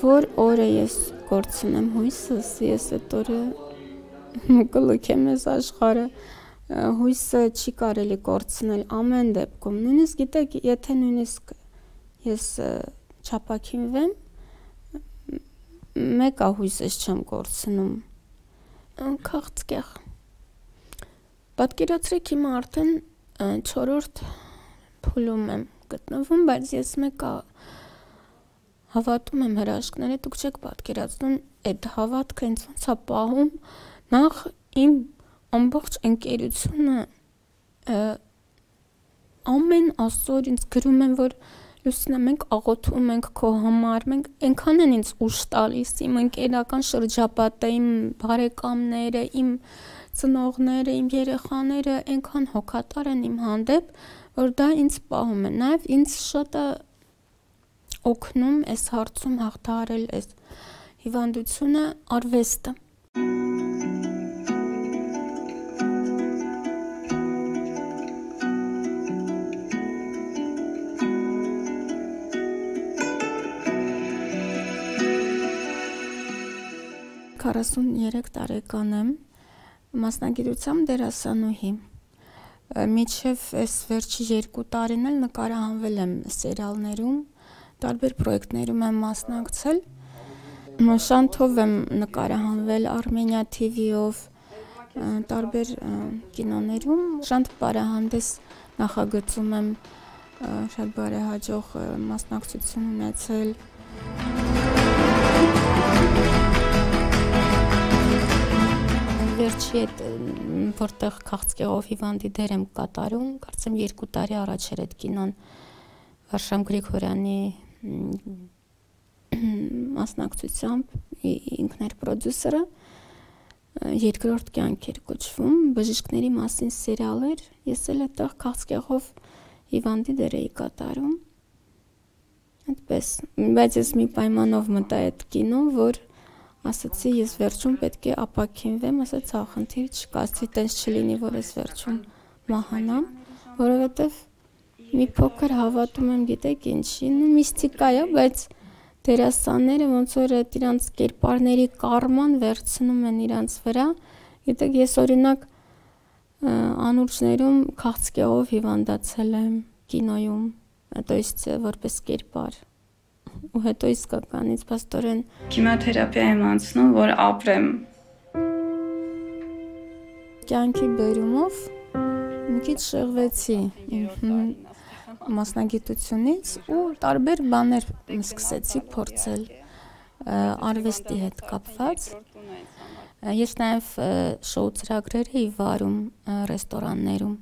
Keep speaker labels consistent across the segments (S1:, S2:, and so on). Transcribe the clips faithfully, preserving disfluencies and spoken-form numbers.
S1: Որ օրը ես կորցնեմ հույսս, ես այդ օրը կլքեմ ես աշխարհը, հույսը չի կարելի կորցնել ամեն դեպքում, նույնիսկ գիտեք, եթե նույնիսկ ես չափակինվեմ, մեկա հույսս չեմ կորցնում, քաղցկեղ, պատկերացրեք հիմա արդեն չորրորդ փուլում եմ գտնվում, բայց ես մեկա հավատում եմ հրաշքները, դուք չեք պատկերացնում, այդ հավատքը ինձ ոնց է պահում, նախ իմ ամբողջ ընկերությունը ամեն ասոր ինձ գրում են, որ Լուսինա, մենք աղոթում ենք քո համար, մենք այնքան են ինձ ուժ տալիս, իմ ընկերական շրջապատը, իմ բարեկամները, իմ ծնողները, իմ երեխաները այնքան հոգատար են իմ հանդեպ, որ դա ինձ պահում է, նաև ինձ շատ է օգնում այս հարցում հաղթահարել այս հիվանդությունը արվեստը։ քառասուններեք տարեկան եմ, մասնագիտությամբ դերասանուհի։ Մինչև այս վերջի երկու տարին էլ նկարահանվել եմ սերիալներում, տարբեր պրոյեկտներում եմ մասնակցել, Շանթով եմ նկարահանվել Armenia T V-ով, տարբեր կինոներում, Շանթ բարեհանդես նախագծում եմ շատ բարեհաջող մասնակցություն ունեցել։ Վերջի հետ, որտեղ քաղցկեղով հիվանդի դեր եմ կատարում, կարծեմ երկու տարի առաջ էր այդ կինոն Վարշամ Գրիգորյանի մասնակցությամբ, ինքն էր պրոդյուսերը, երկրորդ կյանք էր կոչվում, բժիշկների մասին սերիալ էր, ես էլ այդտեղ քաղցկեղով հիվանդի դեր էի կատարում, այդպես, բայց ես մի պայմանով մտա այդ կինո, որ ասացի, ես վերջում պետք է ապաքինվեմ, ասաց, հա, խնդիր չկա, ասացի, տենց չլինի, որ ես վերջում մահանամ, որովհետև մի փոքր հավատում եմ, գիտեք ինչի, միստիկա է, բայց դերասանները ոնց որ իրանց կերպարների կարման վերցնում են իրանց վրա, գիտեք, ես օրինակ անուրջներում քաղցկեղով հիվանդացել եմ կինոյում, то есть որպես կերպար, ու հետո իսկականից փաստորեն քիմիոթերապիա եմ անցնում, որ ապրեմ։ Կյանքի բերումով մի քիչ շեղվեցի մասնագիտությունից ու տարբեր բաներ սկսեցի փորձել արվեստի հետ կապված։ Ես նաև շոու ծրագրեր էի վարում ռեստորաններում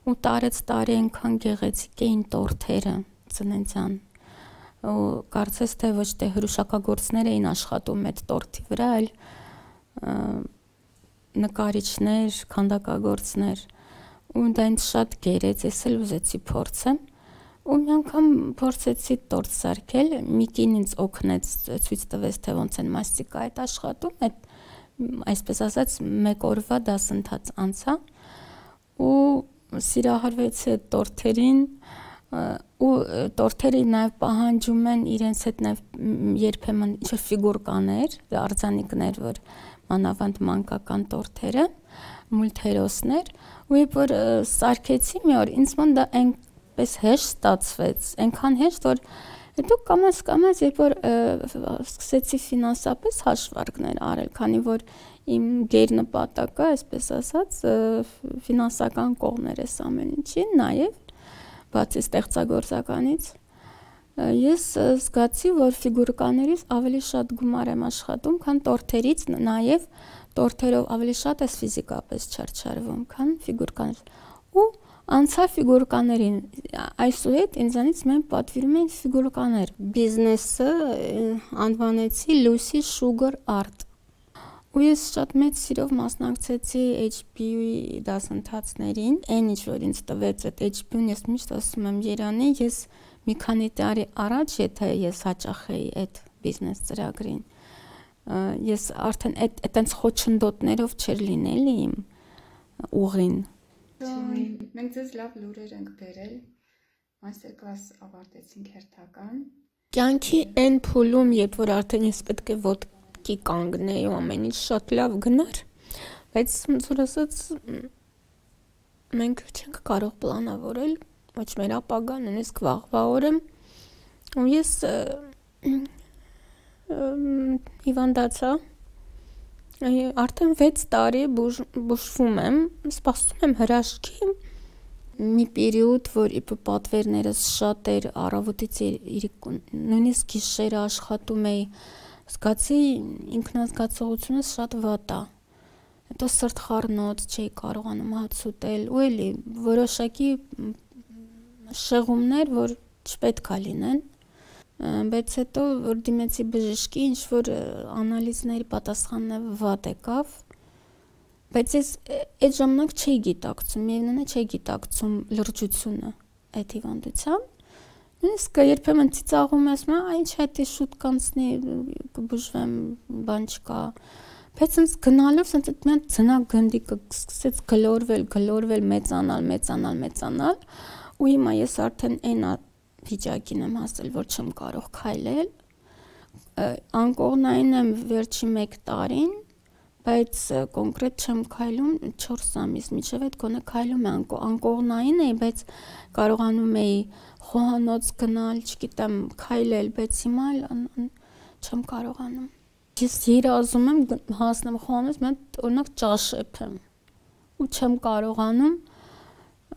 S1: ու տարեց տարի այնքան գեղեցիկ էին տորթերը ծննդյան։ Ու կարծես թե ոչ թե հրուշակագործներ էին աշխատում այդ տորթի վրա, այլ նկարիչներ, քանդակագործներ, ու դա ինձ շատ գերեց, ես էլ ուզեցի փորձեմ, ու մի անգամ փորձեցի տորթ սարքել, մի կին ինձ օգնեց, ցույց տվեց, թե ոնց են մաստիկա այդ աշխատում, այդ այսպես ասած մեկ օրվա դասընթաց անցա, ու սիրահարվեցի այդ տորթերին, ու տորթերը նաև պահանջում են իրենց հետ նաև երբեմն ինչ-որ ֆիգուրկաներ, արձանիկներ, որ մանավանդ մանկական տորթերը, մուլտհերոսներ, ու երբ որ սարքեցի մի օր, ինձ մոտ դա այնպես հեշտ ստացվեց, այնքան հեշտ, որ հետո կամաց կամաց, երբ որ սկսեցի ֆինանսապես հաշվարկներ արել, քանի որ իմ գերնպատակը, այսպես ասած, ֆինանսական կողմն էր այս ամեն ինչին, նաև բացի ստեղծագործականից, ես զգացի, որ ֆիգուրկաներից ավելի շատ գումար եմ աշխատում, քան տորթերից, նաև տորթերով ավելի շատ ես ֆիզիկապես չարչարվում, քան ֆիգուրկաներ, ու անցա ֆիգուրկաներին, այսուհետ ինձանից մեն պատվիրում էին ֆիգուրկաներ, բիզնեսը անվանեցի Lucy Sugar Art, ու ես շատ մեծ սիրով մասնակցեցի H B U-ի դասընթացներին, այն ինչ որ ինձ տվեց այդ H B U-ն, ես միշտ ասում եմ Երանի, ես մի քանի տարի առաջ, եթե ես հաճախ էի այդ բիզնես ծրագրին, ես արդեն այդ այտենց խոչընդոտներով չէր լինել իմ, ուղին։
S2: Մենք ձեզ լավ լուրեր ենք բերել, մաստեր-կլաս ավարտեցինք հերթական։
S1: Կյանքի այն փուլում, երբ որ արդեն ես պետք է ոտքի կանգնեի ու ամեն ինչ շատ լավ գնար, բայց ոնց ասած մենք չենք կարող պլանավորել ոչ մեր ապագան, նույնիսկ վաղվա օրը, ու ես հիվանդացա, արդեն վեց տարի բուժվում եմ, սպասում եմ հրաշքի, մի պերիոդ, որ պատվերներս շատ էր, առավոտից նույնիսկ գիշերը աշխատում էի, զգացի ինքնազգացողությունս շատ վատ է, հետո սրտխառնոց չէի կարողանում հաց ուտել, ու էլի որոշակի շեղումներ, որ չպետք է լինեն, բայց հետո որ դիմեցի բժշկի, ինչ որ անալիզների պատասխանները վատ եկավ, բայց ես այդ ժամանակ չէի գիտակցում, միևնույն է չէի գիտակցում լրջությունը այդ հիվանդությամբ, նույնիսկ երբեմն ծիծաղում եմ, ասում եմ, ինչ հետի շուտ կանցնի, կբուժվեմ, բան չկա, բայց ինձ գնալով սենց այդ միան ձնագնդիկը սկսեց գլորվել, գլորվել, մեծանալ, մեծանալ, մեծանալ, ու հիմա ես արդեն այն վիճակին եմ հասել, որ չեմ կարող քայլել, անկողնային եմ վերջի մեկ տարին, բայց կոնկրետ չեմ քայլում չորս ամիս, մինչև այդ գոնե քայլում եմ, անկողնային էի, բայց կարողանում էի խոհանոց գնալ, չգիտեմ, քայլել, բայց հիմա չեմ կարողանում։ Ես երազում եմ հասնեմ խոհանոց, մենք օրինակ ճաշեպ եմ, ու չեմ կարողանում,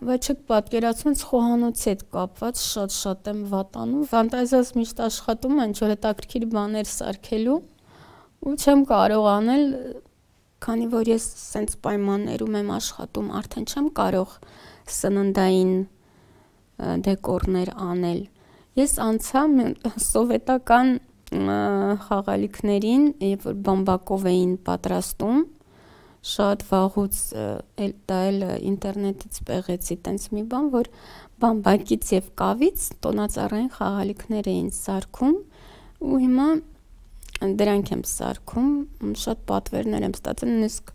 S1: բայց չեք պատկերացնում, խոհանոցի հետ կապված շատ-շատ եմ վատանում, ֆանտազիաս միշտ աշխատում են, ինչ-որ հետաքրքիր բաներ սարքելու, ու չեմ կարող անել, քանի որ ես սենց պայմաններում եմ աշխատում, արդեն չեմ կարող սննդային դեկորներ անել։ Ես անցա սովետական խաղալիքներին, երբ որ բամբակով էին պատրաստում, շատ վաղուց դա էլ ինտերնետից պեղեցի տենց մի բան, որ բամբակից և կավից տոնածառային խաղալիքներ էին սարքում, ու հիմա դրանք եմ սարքում, շատ պատվերներ եմ ստացել, նույնիսկ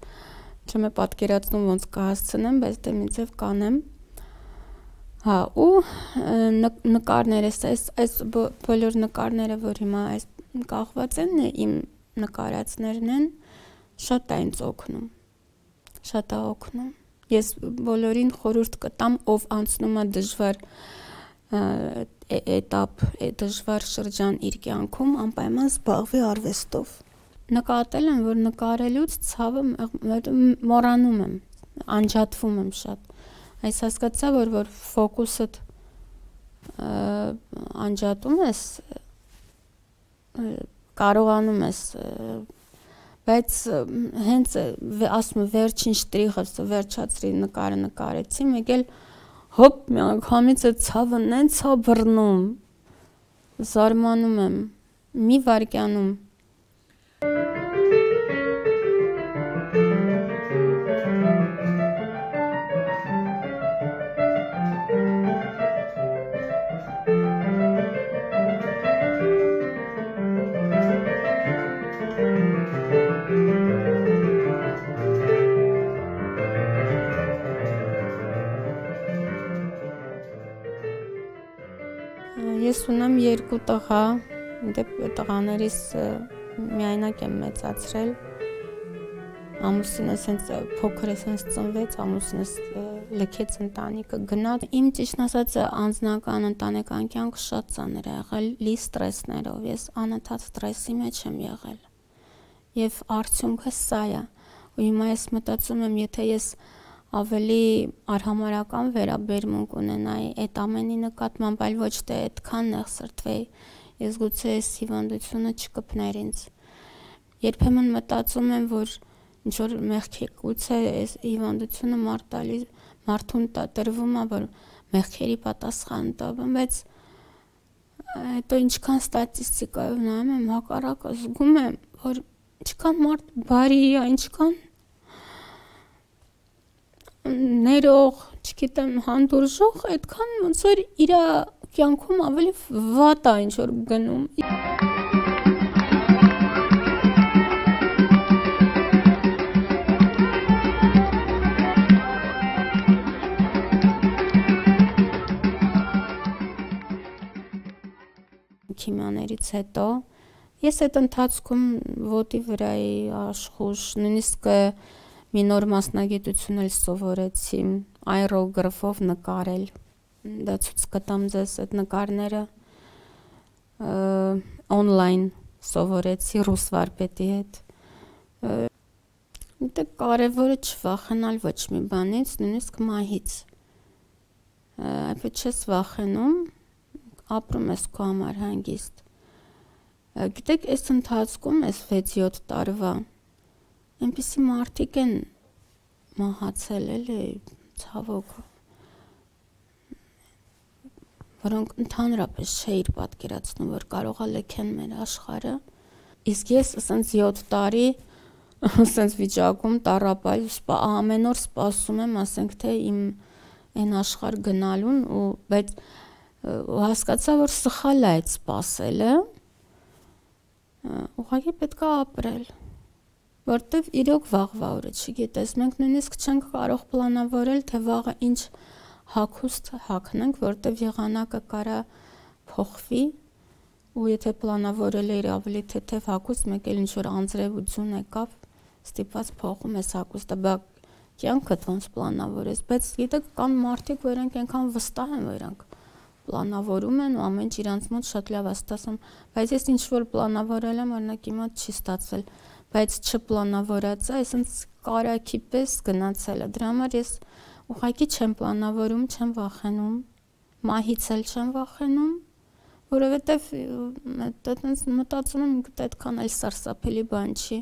S1: չեմ է պատկերացնում ոնց կհասցնեմ, բայց դե մի ձև կանեմ, հա, ու նկարներս, այս բոլոր նկարները, որ հիմա կախված են, իմ նկարածներն են, շատ է ինձ օգնում, շատ է օգնում, ես բոլորին խորհուրդ կտամ, ով անցնում է դժվար էտապ, դժվար շրջան իր կյանքում, անպայման զբաղվի արվեստով։ Նկատել եմ, որ նկարելուց ցավը մոռանում եմ, անջատվում եմ շատ, այս հասկացա, որ որ ֆոկուսդ անջատում ես, կարողանում ես, բայց հենց ասում եմ վերջին շտրիխը, վերջացրի նկարը նկարեցի, մեկ էլ հոպ միանգամից այդ ցավը նենց է բռնում, զարմանում եմ, մի վայրկյանում։ Ես ունեմ երկու տղա, տղաներիս միայնակ եմ մեծացրել, ամուսինս հենց փոքր ես հենց ծնվեց, ամուսինս լքեց ընտանիքը գնաց, իմ ճիշտ ասած անձնական ընտանեկան կյանքը շատ ծանր է եղել, լի ստրեսներով, ես անընդհատ ստրեսի մեջ եմ եղել, և արդյունքը սա է, ու հիմա ես մտածում եմ, եթե ես ավելի արհամարհական վերաբերմունք ունենայի այդ ամենի նկատմամբ, այլ ոչ թե այդքան նեղսրտվեի, ես գուցե այս հիվանդությունը չկպներ ինձ։ Երբեմն մտածում եմ, որ ինչ-որ մեղքի, գուցե այս հիվանդությունը մարդուն տրվում է, որ մեղքերի պատասխան տա, բայց հետո ինչքան ստատիստիկայով նայում եմ, հակառակը զգում եմ, որ ինչքան մարդ բարի է, ինչքան ներող, չգիտեմ, հանդուրժող, այդքան ոնց որ իր կյանքում ավելի վատ է ինչ-որ գնում։ քիմիաներից հետո ես այդ ընթացքում ոտի վրայի աշխուժ, նույնիսկ մի նոր մասնագիտություն էլ սովորեցի աերոգրաֆով նկարել, դա ցույց կտամ ձեզ այդ նկարները, օնլայն սովորեցի ռուս վարպետի հետ, դե կարևորը չվախենալ ոչ մի բանից, նույնիսկ մահից, այդպես չես վախենում, ապրում ես քո համար հանգիստ, գիտեք, այս ընթացքում, այս վեց-յոթ տարվա, այնպիսի մարդիկ են մահացել էլի, ցավոք, որոնք ընդհանրապես չէիր պատկերացնում, որ կարող է լքեն մեր աշխարհը, իսկ ես ասենց յոթ տարի, ասենց վիճակում տառապալ, ամեն օր սպասում եմ, ասենք թե իմ այն աշխարհ գնալուն, ու բայց հասկացա, որ սխալ է այդ սպասելը, ուղղակի պետք է ապրել, որտեվ իրոք վաղվա օրը չգիտես, մենք նույնիսկ չենք կարող պլանավորել, թե վաղը ինչ հագուստ հագնենք, որտեվ եղանակը կարա փոխվի, ու եթե պլանավորել էիր ավելի թեթև հագուստ, մեկ էլ ինչ-որ անձրև ու ձյուն եկավ, ստիպված փոխում ես հագուստը, բա կյանքդ ոնց պլանավորես, բայց գիտեք, կան մարդիկ, որոնք այնքան վստահ են, որ իրանք պլանավորում են ու ամեն ինչ իրանց մոտ շատ լավ է ստացվում, բայց ես ինչ-որ պլանավորել եմ, օրինակ իմ մոտ չի ստացվել, բայց չպլանավորածը, այսինքն կարագի պես գնացել է, դրա համար ես ուղղակի չեմ պլանավորում, չեմ վախենում, մահից էլ չեմ վախենում, որովհետև այդպես մտածում եմ, այդքան էլ սարսափելի բան չի։